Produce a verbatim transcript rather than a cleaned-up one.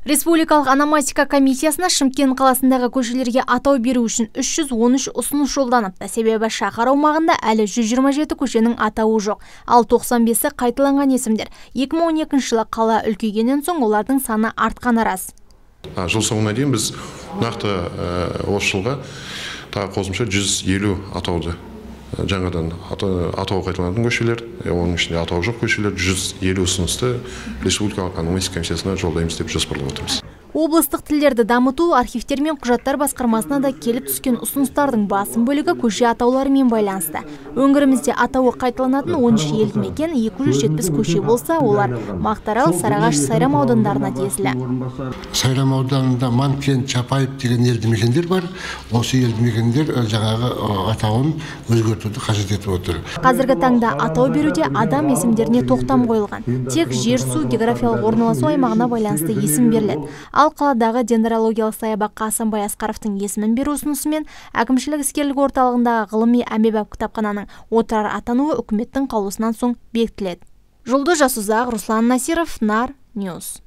Республикалық ономастика комиссиясына Шымкент қаласындағы көшелерге атау беру үшін үш жүз он үш ұсыныс жолданыпты. Себебі шаһар аумағында әлі жүз жиырма жеті көшенің атауы жоқ, ал тоқсан бесі қайталанған есімдер. екі мың он екінші жылы қала үлкейгеннен соң олардың саны артқаны рас. Жыл соңына дейін біз нақты осы жылға тағы қосымша жүз елу атауды жаңадан атауы қайталанатын көшелер, оның ішінде атауы жоқ көшелер жүз елу ұсынысты Республикалық ономастика комиссиясына жолдаймыз деп жоспарлап отырмыз. Облыстық тілдерді дамыту архивтер мен құжаттар басқармасына да келіп түскен ұсыныстардың басым бөлігі көше атауларымен байланысты. Өңірімізде атауы қайталанатын он үш елді мекен екі жүз жетпіс көше болса, олар Мақтарал, Сарыағаш, Сайрам аудандарына тиесілі. Сайрам ауданында Манкент, Чапаев деген елді мекендер бар. Осы елді мекендер жаңағы атауын өзгертуді қажет етіп отыр. Қазіргі таңда атау беруде адам есімдеріне тоқтам қойылған. Тек жер су географиялық орналасу аймағына байланысты есім беріледі. Ал қаладағы дендрологиялық саябаққа Асанбай Асқаровтың есімін беру ұсынысымен әкімшілік іскерлік орталығындағы ғылыми әмбебап кітапхананың отырар атануы үкіметтің қаулысынан соң бекітіледі. Жұлдыз Жасұзақ, Руслан Насиров, Нар Ньюс.